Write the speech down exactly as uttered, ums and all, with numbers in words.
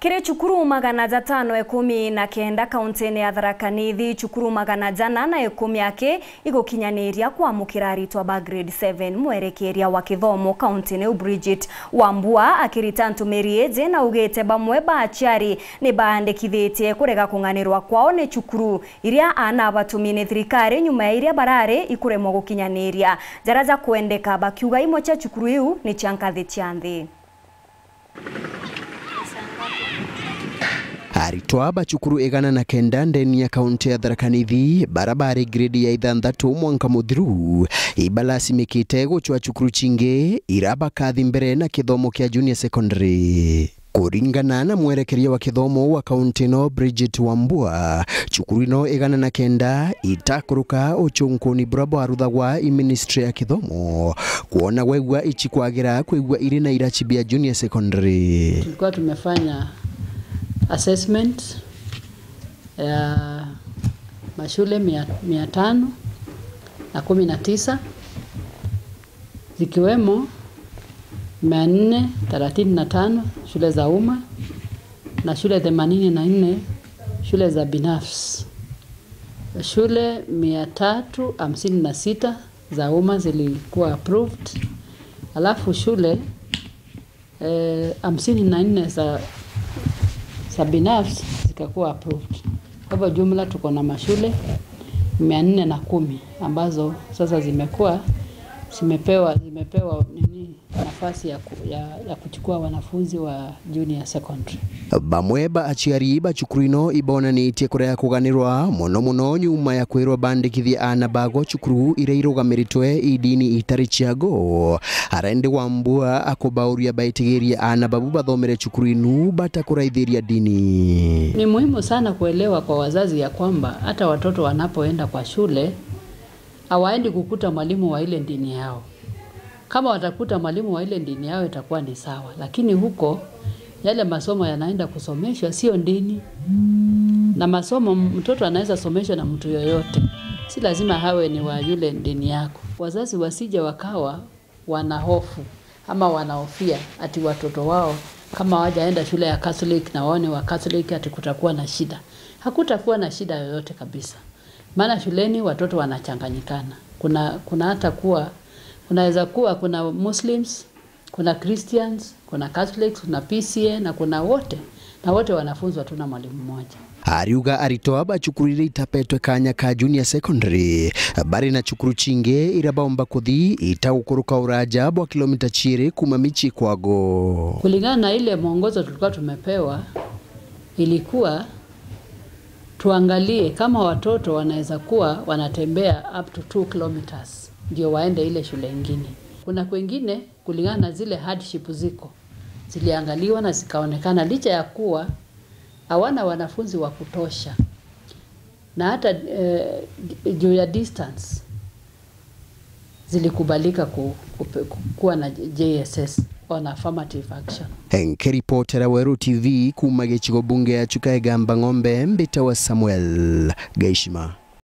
Kiri cukuru magana jatano ikumi na kenda kauntine ya Tharaka Nithi, cukuru magana jana na ikumi aki igukinyaniria kwamukira aritwa ba grade seven. Mwerekeria wa kithomo kauntine iu Bridget Wambua akirita ntumiri iji naugite bamwe ba aciari ni baandikithitie kurega kung'anirwa kwao ni cukuru iria aana abatumi ni thirikari nyuma ya iria barari ikuremwa gukinyaniria jaria jakwendeka, bakiuga imwe cia cukuru iu ni cia nkathi cia nthi. Aritwa ba cukuru igana na kenda ndeni ya kaunti ya Tharaka Nithi, bara bari grade ya ithanthatu mwanka muthiru, ibalasimikite gucwa cukuru cingi ira bakathi mbere na kithomo kia junior secondary. Kuringana na mwerekeria wa kithomo wa kaunti ino, Bridget Wambua, cukuru ino igana na kenda itakuruka ucunkuni bura bwaruthagwa i ministry ya kithomo, kwona gwegua ici kwagira kwigua iri na iraci bia junior secondary. Tulikuwa tumefanya assessment ya mashule mia, mia tano na kumi na tisa, zikiwemo mia nne thelathini na tano shule za umma na shule themanini na nne shule za binafsi. Shule mia tatu hamsini na sita za umma zilikuwa approved, alafu shule, eh, hamsini na nne za, za binafsi zikakuwa approved. Kwa hivyo jumla tuko na mashule mia nne na kumi ambazo sasa zimekuwa, zimepewa, zimepewa nini, nafasi ya ku-, ya, ya kuchukua wanafunzi wa junior secondary. Bamwe ba aciari ba cukuru ino ibonanitie kurega kuganirwa mono mono nyuma ya kwirwa bandikithie aana bago cukuru iria irugamiritwe i dini itari ciago. Arendi Wambua akubauria baitigirie aana babu bathomere cukuru inu batakuraithiria dini. Ni muhimu sana kuelewa kwa wazazi ya kwamba hata watoto wanapoenda kwa shule, hawaendi kukuta mwalimu wa ile dini yao. Kama watakuta mwalimu wa ile dini yao itakuwa ni sawa, lakini huko yale masomo yanaenda kusomeshwa sio dini. Na masomo, mtoto anaweza someshwa na mtu yoyote, si lazima hawe ni wa yule dini yako. Wazazi wasije wakawa wana hofu ama wanahofia ati watoto wao kama hawajaenda shule ya Catholic na wao ni wa Catholic ati kutakuwa na shida. Hakutakuwa na shida yoyote kabisa. Maana shuleni watoto wanachanganyikana. Kuna, kuna hata kuwa, kunaweza kuwa kuna Muslims, kuna Christians, kuna Catholics, kuna P C A na kuna wote. Na wote wanafunzwa tu na mwalimu mmoja. Ariuga aritwa ba cukuru iria itapetwe kanya ka junior secondary bari na cukuru cingi iria baumba kuthi itagukuruka uraja bwa kilomita ciiri kuma micii kwago. Kulingana na ile mwongozo tulikuwa tumepewa, ilikuwa tuangalie kama watoto wanaweza kuwa wanatembea up to two kilometers ndio waende ile shule ingine. Kuna kwengine, kulingana na zile hardship ziko, ziliangaliwa na zikaonekana, licha ya kuwa hawana wanafunzi wa kutosha na hata, eh, juu ya distance, zilikubalika ku-, kupe-, ku-, kuwa na J S S on affirmative action. Nkiripotera Weru T V kuma gicigo bunge ya Chuka Igamba Ng'ombe, mbitawa Samuel Gaishima.